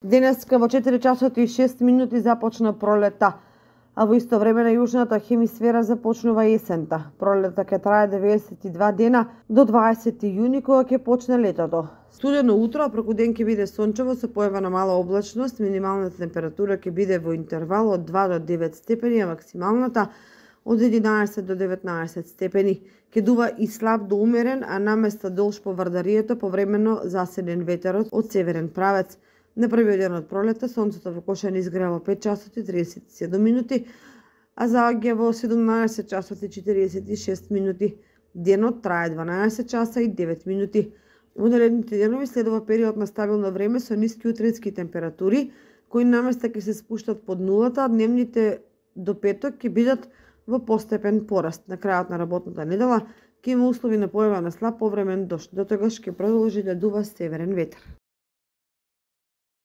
Денеска во 4 часот и 6 минути започна пролета, а во исто време на јужната хемисфера започнува есента. Пролета ќе трае 92 дена до 20 јуни, кога ќе почне летото. Студено утро, а преку ден ќе биде сончево со појава на мала облачност, минималната температура ќе биде во интервал од 2 до 9 степени, а максималната од 11 до 19 степени. Ќе дува и слаб до умерен, а наместа долж по Вардарието повремено засилен ветерот од северен правец. На првиот ден од пролета сонцето во Кошани изгрева во 5 часот и 37 минути, а заоѓа во 17 часот и 46 минути. Денот трае 12 часа и 9 минути. Во наредните денови следува период на стабилно време со ниски утрински температури, кои наместа ќе се спуштат под нулата, а дневните до петок ќе бидат во постепен пораст. На крајот на работната недела ќе има услови на појава на слаб повремен дожд. До тогаш ќе продолжи да дува северен ветер.